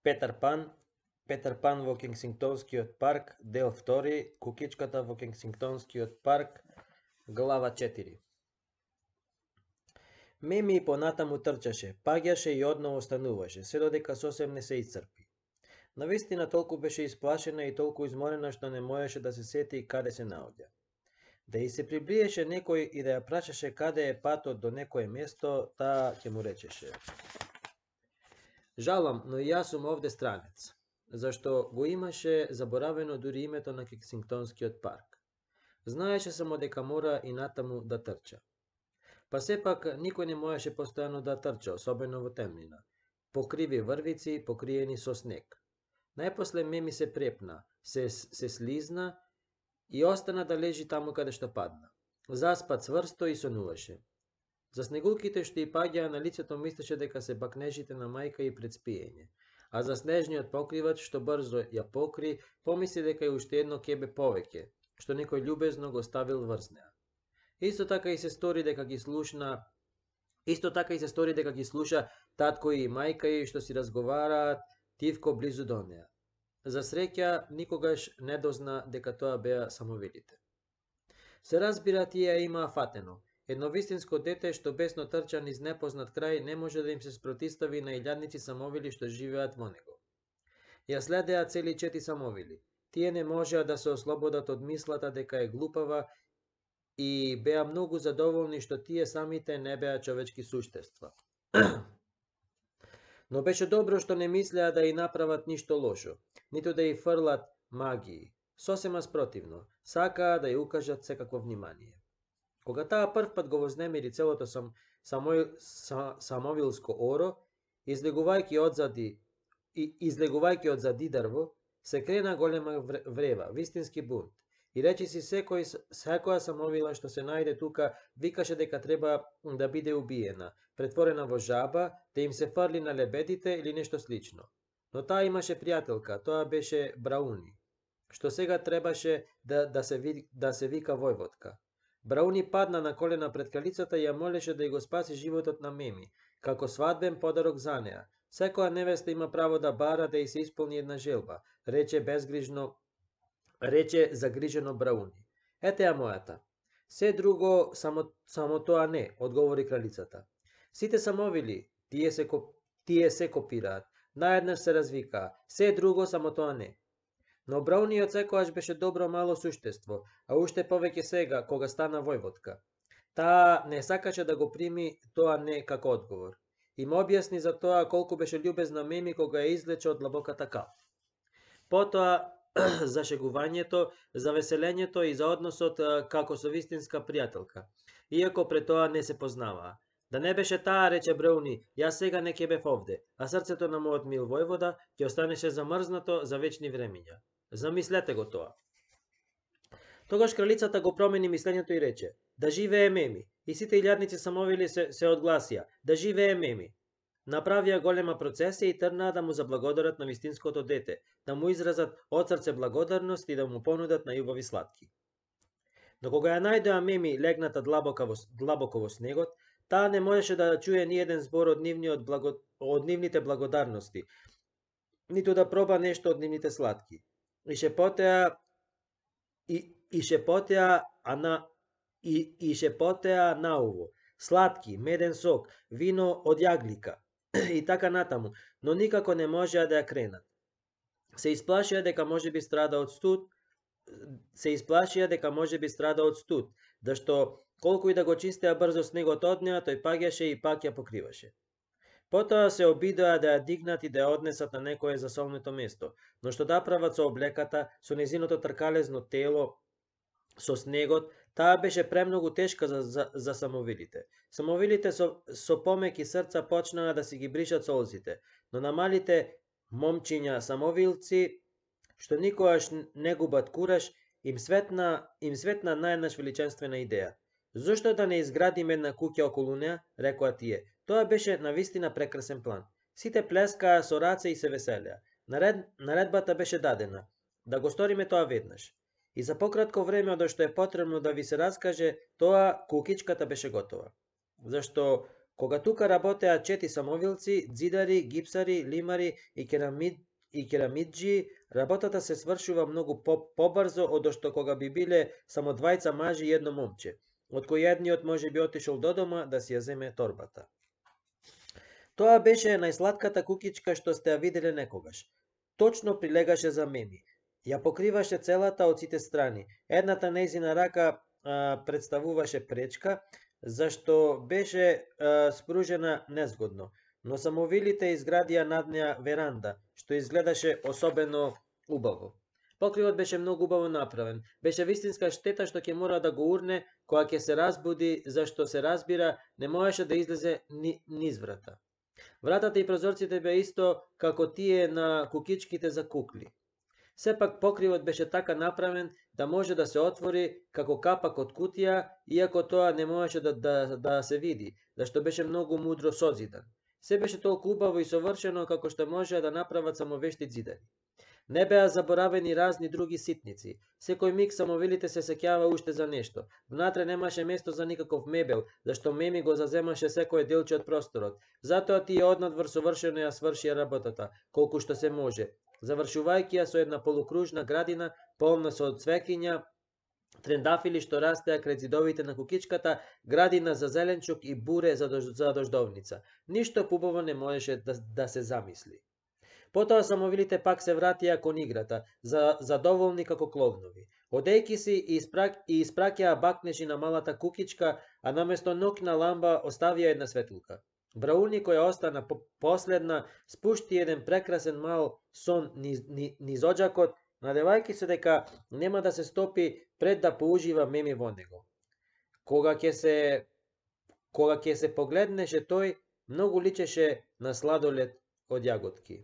Петар Пан во Кенсингтонскиот парк, дел 2, Кукичката во Кенсингтонскиот парк, глава 4. Меми и понатаму трчаше, паѓаше и одново стануваше, се додека сосем не се исцрпи. Навистина толку беше исплашена и толку изморена што не можеше да се сети каде се наоѓа. Да и се приближеше некој и да ја прашаше каде е патот до некое место, таа ќе му речеше: Жалам, но и јас сум овде странец, зашто го имаше заборавено дури името на Кенсингтонскиот парк. Знаеше само дека мора и натаму да трча. Па сепак никој не можеше постојано да трча, особено во темнина. Покриви врвици, покриени со снег. Најпосле Меми се препна, се слизна и остана да лежи таму каде што падна. Заспа цврсто и сонуваше. За снегулките што и паѓаа на лицето мислеше дека се бакнежите на мајка и пред спиење, а за снежниот покривач што брзо ја покри, помисли дека е уште едно кебе повеќе, што некој љубезно го ставил врз неа. Исто така и се стори дека ги слуша татко и мајка и што си разговараат тивко близу до неа. За среќа, никогаш не дозна дека тоа беа самовилите. Се разбира, тие ја имаа фатено. Едно вистинско дете што бесно трча низ непознат крај не може да им се спротистави на илјадници самовили што живеат во него. Ја следеа цели 4 самовили. Тие не можеа да се ослободат од мислата дека е глупава и беа многу задоволни што тие самите не беа човечки суштества. Но беше добро што не мислеа да и направат ништо лошо, ниту да и фрлат магии. Сосема спротивно, сакаа да ја укажат секакво внимание. Кога таа првпат го вознемири целото самовилско оро, излегувајќи од зади дрво, се крена голема врева, вистински бунт. И речиси секоја самовила што се најде тука викаше дека треба да биде убиена, претворена во жаба, да им се фрли на лебедите или нешто слично. Но таа имаше пријателка, тоа беше Брауни, што сега требаше да се вика Војводка. Брауни падна на колена пред кралицата и ја молеше да ја го спаси животот на Меми, како свадбен подарок за неа. Секоја невеста има право да бара да ја се исполни една желба, рече загрижено Брауни. Ете ја мојата. Се друго, само тоа не, одговори кралицата. Сите самовили, тие се копираат, наеднаш се развикаа, се друго, само тоа не. Но Брауни од секојаш беше добро мало суштество, а уште повеќе сега, кога стана војводка. Таа не сакаше да го прими тоа не како одговор. И му објасни за тоа колку беше љубезна Меми кога ја извлече од длабоката кал. Потоа за шегувањето, за веселењето и за односот како со вистинска пријателка, иако пред тоа не се познаваа. Да не беше таа, рече Брауни, јас сега не ќе бев овде, а срцето на мојот мил војвода ќе останеше замрзнато за вечни времиња. Замислете го тоа. Тогаш кралицата го промени мислењето и рече: да живее Меми. И сите илјадници самовили се одгласија: да живее Меми. Направија голема процесија и трнаа да му заблагодарат на вистинското дете, да му изразат од срце благодарност и да му понудат најубави сладки. Но кога ја најдоа Меми легната длабоко во снегот, таа не можеше да чуе ни еден збор од нивните благодарности, ниту да проба нешто од нивните сладки. И шепотеа науво: сладки, меден сок, вино од јаглика и така натаму, но никако не можеа да ја кренат. Се исплашија дека можеби страда од студ, зашто колку и да го чистеа брзо снегот од неа, тој паѓаше и пак ја покриваше. Потоа се обидоа да ја дигнат и да ја однесат на некое засолнето место, но што да прават со облеката, со незиното тркалезно тело, со снегот, таа беше премногу тешка за самовилите. Самовилите со помеки срца почнаа да си ги бришат солзите, но на малите момчиња самовилци, што никогаш не губат кураж, им светна наеднаш величенствена идеја. Зошто да не изградиме една куќа околу неа, рекоа тие. Тоа беше навистина прекрасен план. Сите плескаа со раце и се веселеа. Наредбата беше дадена да го сториме тоа веднаш. И за пократко време од што е потребно да ви се раскаже, тоа кукичката беше готова. Зашто Кога тука работеа 4 самовилци, дзидари, гипсари, лимари и керамиджии, работата се свршува многу побрзо од што кога би биле само двајца мажи и едно момче, од кој едниот може би отишол до дома да си ја земе торбата. Тоа беше најсладката кукичка што сте ја виделе некогаш. Точно прилегаше за Меми. Ја покриваше целата од сите страни. Едната нејзина рака представуваше пречка, зашто беше спружена незгодно, но самовилите изградија над неа веранда, што изгледаше особено убаво. Покривот беше многу убаво направен. Беше вистинска штета што ќе мора да го урне кога ќе се разбуди, зашто се разбира не можеше да излезе низ врата. Вратата и прозорците беа исто како тие на кукичките за кукли. Сепак покривот беше така направен да може да се отвори како капак од кутија, иако тоа не можеше да се види, зашто беше многу мудро созидан. Се беше толку убаво и совршено како што можеа да направат само вешти ѕидари. Не беа заборавени разни други ситници. Секој миг самовилите се сеќава уште за нешто. Внатре немаше место за никаков мебел, зашто Меми го заземаше секое делче од просторот. Затоа тие однадвор совршено ја свршија работата, колку што се може, завршувајќи ја со една полукружна градина полна со цвеќиња, трендафили што растеа крај ѕидовите на кукичката, градина за зеленчук и буре за дождовница. Ништо побаво не можеше да се замисли. Потоа самовилите пак се вратија кон играта, задоволни како кловнови. Одејки си и испраќаа бакнежи на малата кукичка, а наместо ноќна ламба оставија една светилка. Брауни, која остана последна, спушти еден прекрасен мал сон низ оџакот, надевајќи се дека нема да се стопи пред да поужива Меми во него. Кога ќе се погледнеше тој, многу личеше на сладолед од јаготки.